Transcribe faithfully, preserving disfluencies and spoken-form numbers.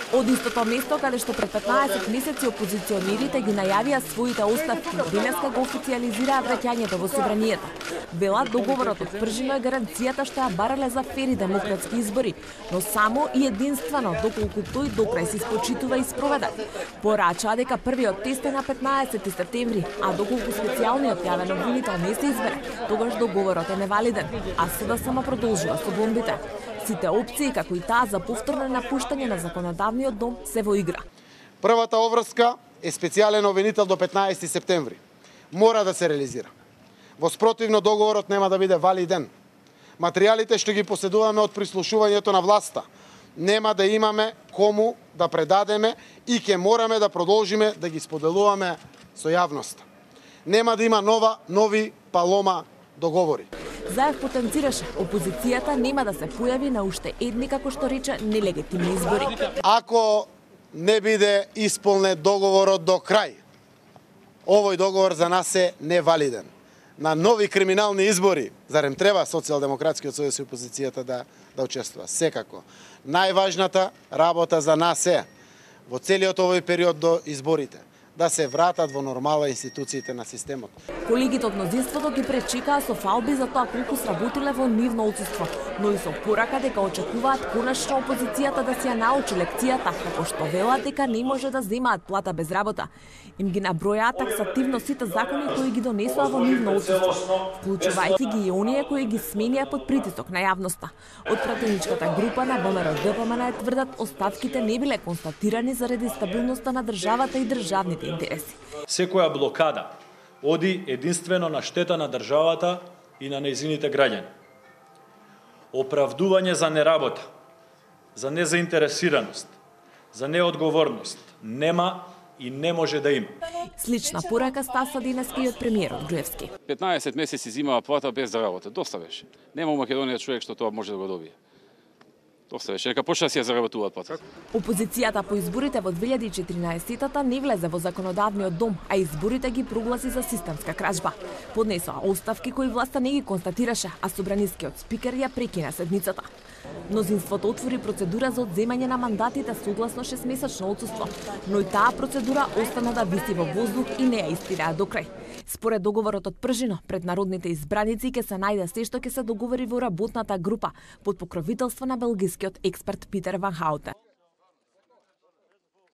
Од истото место каде што пред петнаесет месеци опозиционерите ги најавија своите оставки, денеска го официјализираат враќањето во собранието. Велат договорот од Пржино е гаранцијата што ја барале за фери демократски избори, но само и единствено доколку тој докрај се испочитува и спроведе. Порачаа дека првиот тест е на петнаесети септември, а доколку специјалниот јавен обвинител не се избере, тогаш договорот е невалиден, а СДСМ продолжува со бомбите. Сите опции, како и таа за повторно напуштање на законодавниот дом, се во игра. Првата обврска е специјален обвинител до петнаесети септември. Мора да се реализира. Во спротивно договорот нема да биде валиден. Материјалите што ги поседуваме од прислушувањето на власта нема да имаме кому да предадеме и ќе мораме да продолжиме да ги споделуваме со јавноста. Нема да има нова, нови палома договори. Заев потенцираше, опозицијата нема да се појави на уште едни, како што рече, нелегитимни избори. Ако не биде исполнет договорот до крај, овој договор за нас е невалиден. На нови криминални избори, зарем треба Социјалдемократскиот сојуз и опозицијата да, да учествува? Секако. Најважната работа за нас е, во целиот овој период до изборите, да се вратат во нормала институциите на системот. Колегите од мнозинството ги пречекаа со фалби за тоа колку сработиле во нивно отсуство, но и со порака дека очекуваат конечно опозицијата да си ја научи лекцијата, како што велат дека не може да земаат плата без работа. Им ги набројаат таксативно сите закони кои ги донесоа во нивно отсуство, вклучувајќи ги и оние кои ги сменија под притисок на јавноста. Од пратеничката група на ВМРО-ДПМН тврдат оставките не биле констатирани заради стабилноста на државата и државните интереси. Секоја блокада оди единствено на штета на државата и на нејзините граѓани. Оправдување за неработа, за незаинтересираност, за неодговорност нема и не може да има. Слична порака стаса денеска и од премиерот Груевски. петнаесет месеци зимава плата без да работи. Доста беше. Нема у Македонија човек што тоа може да го добие. Доста беше, нека почне да си ја заработуваат плата. Опозицијата по изборите во две илјади и четиринаесетата не влезе во законодавниот дом, а изборите ги прогласи за системска кражба. Поднесоа оставки кои власта не ги констатираше, а собранискиот спикер ја прекина седницата. Мнозинството отвори процедура за одземање на мандатите согласно шестмесечно отсуство, но и таа процедура остана да виси во воздух и не ја истираа до крај. Според договорот од Пржино, пред народните избраници ќе се најде се што ќе се договори во работната група под покровителство на белгискиот експерт Питер Ван Хаутен.